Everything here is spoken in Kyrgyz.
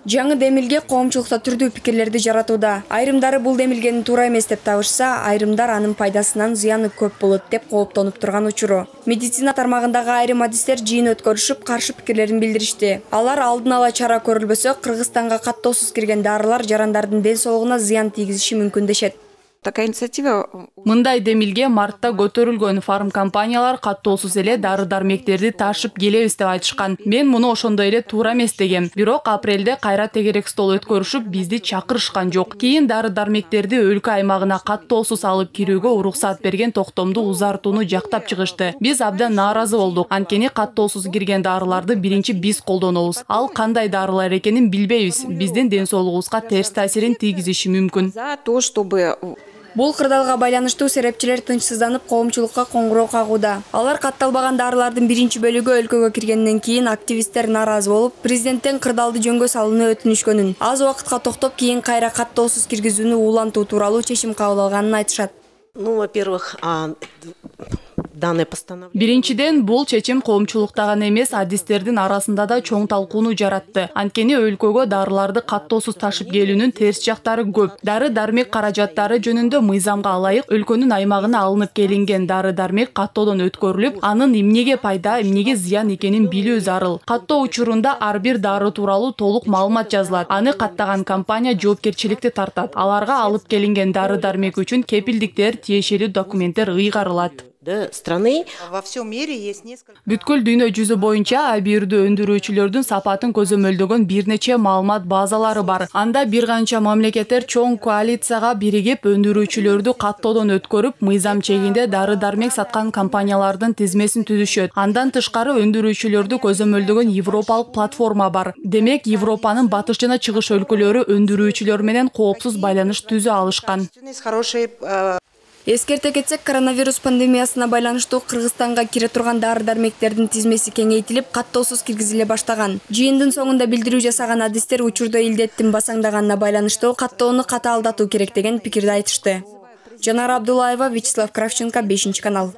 Жаңы демилге коомчулукта түрдүү пикирлерди жаратууда. Айрымдары бул демилгени туура эмес деп табышса, айрымдар анын пайдасынан зыяны көп болот деп кооптонуп турган учуру. Медицина тармагындагы айрым адистер жыйын өткөрүшүп, каршы пикирлерин билдиришти. Алар алдын ала чара көрүлбөсө, Кыргызстанга каттоосуз кирген дарылар жарандардын ден соолугуна зыян тийгизиши мүмкүн дешет. Такая инициатива. Мындай демилге мартта көтөрүлгөн, фармкомпаниялар каттоосуз эле дары-дармектерди ташып келебиз деп айтышкан. Мен муну ошондой эле туура эмес дегем. Бирок апрелде кайра тегерек стол өткөрүшүп, бизди чакырышкан жок. Кийин дары-дармектерди өлкө аймагына каттоосуз алып кирүүгө уруксат берген токтомду узартууну жактап чыгышты. Биз абдан нааразы болдук. Анткени каттоосуз кирген дарыларды биринчи биз колдонобуз. Ал кандай дарылар экенин билбейбиз. Биздин ден соолугубузга терс таасирин тийгизиши мүмкүн. За то, чтобы Бул кырдаалга байланыштуу серепчилер тынчсызданып коомчулукка коңгуроо кагууда. Алар катталбаган дарылардын биринчи бөлүгү өлкөгө киргенден кийин активисттер нааразы болуп, президенттен кырдаалды жөнгө салууну өтүнүшкөнүн, аз убакытка токтоп, кийин кайра каттоосуз киргизүүнү улантуу тууралуу чечим кабыл алганын айтышат. Ну, во-первых, данное постановление. Биринчиден, бул чечим коомчулукта гана эмес, адистердин арасында да чоң талкууну жаратты. Анткени өлкөгө дарыларды каттоосуз ташып келүүнүн терс жактары көп. Дары-дармек каражаттары жөнүндө мыйзамга ылайык өлкөнүн аймагына алынып келинген дары-дармек каттоодон өткөрүлүп, анын эмнеге пайда, эмнеге зыян экенин билүү зарыл. Каттоо учурунда ар бир дары тууралуу толук маалымат жазылат. Аны каттаган компания жоопкерчиликти тартат. Аларга алып келинген дары-дармек үчүн кепилдиктер, тиешелүү документтер ыйгарылат. Страны. Во всем мире есть несколько. Бүткүл дүйнө жүзү боюнча абийирдүү өндүрүүчүлөрдүн сапатын көзөмөлдөгөн бир нече маалымат базалары бар. Анда бир канча мамлекеттер чоң коалицияга биригип өндүрүүчүлөрдү каттоодон өткөрүп, мыйзам чегинде дары-дармек саткан компаниялардын тизмесин түзүшөт. Андан тышкары өндүрүүчүлөрдү көзөмөлдөгөн европалык платформа бар. Демек, Европанын батыш жана чыгыш өлкөлөрү өндүрүүчүлөр менен коопсуз байланыш түзө алышкан. Эскерте кетсек, коронавирус пандемиясына байланыштуу Кыргызстанга кире турган дары-дармектердин тизмеси кеңейтилип, каттоосуз киргизиле баштаган. Жыйындын соңунда билдирүү жасаган адистер учурда илдеттин басаңдаганына байланыштуу каттоону катаалдатуу керек деген пикирди айтышты. Жанара Абдуллаева, Вячеслав Кравченко, 5 канал.